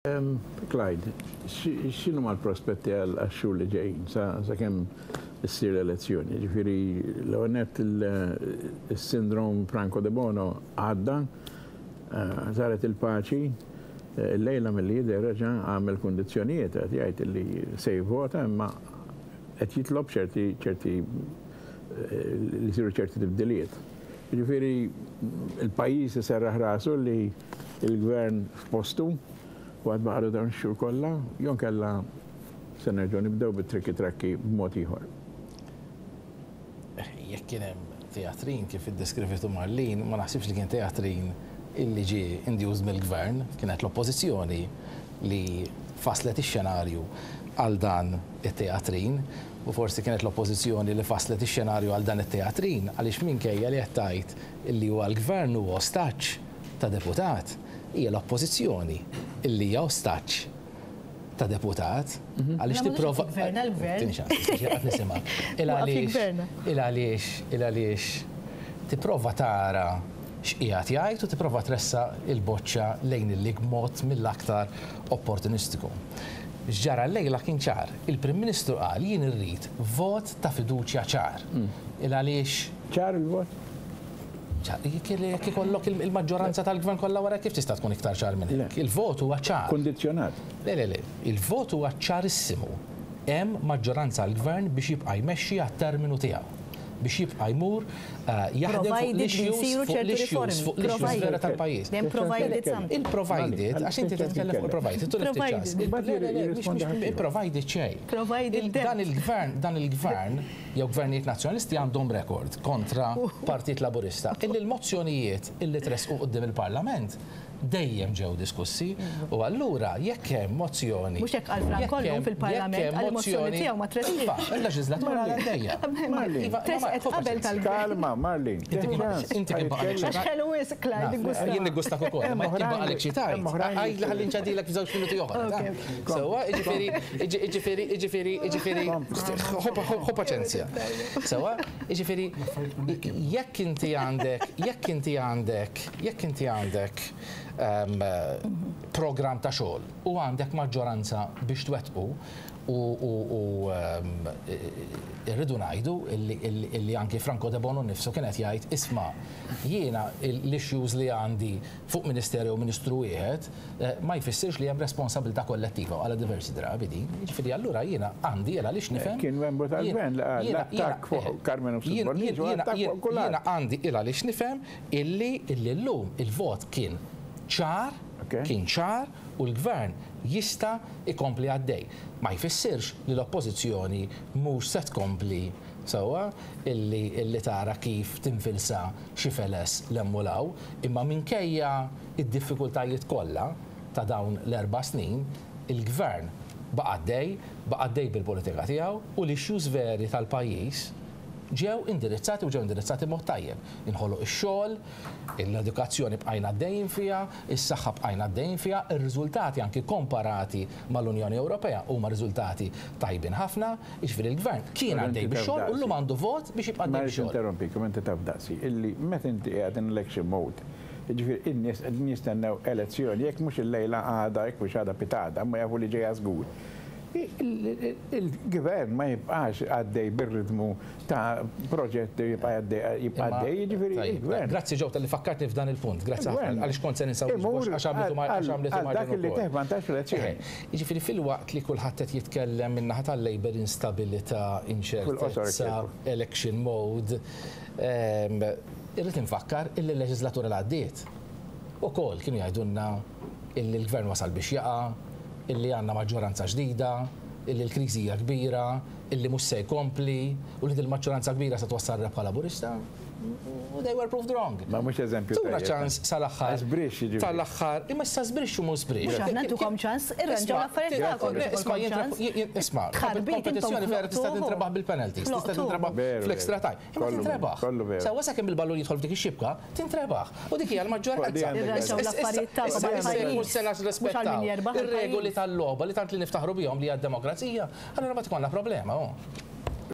Clyde, x'inhuma l-prospetti għax-xhur li ġejjin sakemm issir l-elezzjoni? Ġifieri l-ewwel nett is-sindrom Franco Debono għadda, saret il-paċi, illejla milli jidher reġa' għamel kundizzjonijiet qed jgħid li se jivvota imma qed jitlob ċerti ċerti li jsiru ċerti tibdiliet. Jiġifieri l-pajjiż iserraħ rasu li l-gvern f'postu u għad baqgħalu dawn ix-xhur kollha, jew inkella se nerġgħu nibdew bit-trikki trakki b'mod ieħor. Jekk kien hemm teatrin kif iddeskrivitu Marlene, ma naħsibx li kien teatrin illi ġie induced mill-gvern, kienet l-oppożizzjoni li fasslet ix-xenarju għal dan it-teatrin u forsi kienet l-Oppożizzjoni li fasslet ix-xenarju għal dan it-teatrin għaliex minkejja li qed tgħid illi huwa l-Gvern huwa ostaġġ ta' deputat, hija l-Oppożizzjoni illi hija ostaġġ ta' deputat għaliex tipprova. Tini ċans, qed nisimgħek. Il għaliex, il għaliex, il għaliex tipprova tara x'qiegħed jgħid u tipprova tressaq il-boċċa lejn il-lig b'mod mill-aktar opportunistiku. X'ġara llejla kien ċar. Il-Prim Ministru qal jien irrid vot ta' fiduċja ċar. Il għaliex. Ċar il-vot? Ċar. Jekk ikollok il-maġġoranza tal-Gvern kollha wara kif tista' tkun iktar ċar minn hekk? Il-vot huwa ċar. Kundizzjonat. Le, le, le. Il-vot huwa ċarissimu. Hemm maġġoranza għall-Gvern biex jibqa' jmexxi għat-terminu tiegħu. Biex jibqa' jmur jaħdem fuq l-issues, fuq l-issues, fuq l-issues vera tal-pajjiż. Il-provided, għax inti titkellem fuq il-provided, tu ċans. Il-provided xejn. Dan il-gvern, dan il-gvern, jew gvernijiet nazzjonalisti għandhom rekord kontra Partit Laburista. Illi l-mozzjonijiet illi tressqu quddiem il-Parlament dejjem ġew diskussi u allura jekk hemm mozzjoni. Mhux hekk qal Franco llum fil-Parlament, qal il-mozzjoni tiegħu ma tressqitx. Iva, il-leġiżlatura għadha għaddejja. Iva, tressqet qabel tal-Gvern. Kalma, Marlene. Inti kien baqgħalek xi Għax ħelu wisq, Clyde, iggusta. Jien niggustak ukoll, imma jekk kien baqgħalek xi tgħid, għidli ħalli nċedilek f'żewġ minuti oħra. Sewwa, jiġifieri, jiġifieri, jiġifieri, jiġifieri, ħu paċenzja. Sewwa, jiġifieri, jekk inti għandek, jekk inti għandek, Jekk inti għandek programm ta' xogħol u għandek maġġoranza biex twettqu u rridu ngħidu illi anki Franco Debono nnifsu kien qed jgħid isma' jiena l-issues li għandi fuq ministeru jew ministru wieħed ma jfissirx li hemm responsabilità kollettiva u qalha diversi drabi din. Jiġifieri allura jiena għandi il għaliex nifhem. Kien membru tal-Gvern li qal l-attakk fuq Karmenu Mifsud Bonnici u attakk fuq kulħadd. Jiena għandi il għaliex nifhem Illi illi llum il-vot kien ċar, kien ċar u l-Gvern jista' jkompli għaddej. Ma jfissirx li l-Oppożizzjoni mhux se tkompli sewwa illi illi tara kif tinfilsa xi feles 'l hemm u 'l hawn, imma minkejja d-diffikultajiet kollha ta' dawn l-erba' snin, il-Gvern baqa' għaddej, baqa' għaddej bil-politika tiegħu u l-issues veri tal-pajjiż ġew indirizzati u ġew indirizzati b'mod tajjeb. Inħoloq ix-xogħol, l-edukazzjoni bqajna għaddejjin fiha, is-saħħa bqajna għaddejjin fiha, ir-riżultati anki komparati mal-Unjoni Ewropea huma riżultati tajbin ħafna, jiġifieri l-Gvern kien għaddej bix-xogħol u llum għandu vot biex jibqa' għaddej Ma rridx bix-xogħol. ninterrompik, imma inti taf daqsi, illi meta inti qiegħed in election mode, jiġifieri in-nies qegħdin jistennew elezzjoni, jekk mhux illejla għada, jekk mhux għada pitgħada, imma jafu li ġejja żgur. Il-gvern ma jibqax għaddej bir-ritmu ta' proġetti jibqa' għaddej, jiġifieri il-gvern. Grazzi Joe talli fakkartni f'dan il-punt, grazzi ħafna għaliex kont se ninsa għax għamlitu għamlitu Għal dak li teh vantaġġ fl-elezzjoni. Jiġifieri filwaqt li kulħadd qed jitkellem min-naħa tal-Labour instabilità, inċertezza, election mode, irrid infakkar illi l-leġiżlatura li għaddiet ukoll kienu jgħidulna illi l-gvern wasal biex jaqa', illi għandna maġġoranza ġdida, illi l-kriżi hija kbira, illi mhux se jkompli u li dil-maġġoranza kbira se twassal rebħa Laburista, u they were proved wrong. Ma mhux eżempju Tuna ċans sal-aħħar. Żbrixx jiġifieri. Tal-aħħar, imma issa żbrixx u mhux żbrixx. Mhux aħna ntukom ċans, irranġaw l-affarijiet tagħkom. Isma' jien isma' kompetizzjoni vera tista' tintrebaħ bil-penalties, tista' tintrebaħ fl-extra time. Imma tintrebaħ. Sewwa sakemm il-ballun jidħol f'dik ix-xibka, tintrebaħ. U dik hija l-maġġoranza. Irranġaw l-affarijiet tagħkom għall-pajjiż. Mhux se nirrispettaw ir-regoli tal-logħba li tant li niftaħru bihom li hija d-demokrazija, allura mbagħad ikollna problema.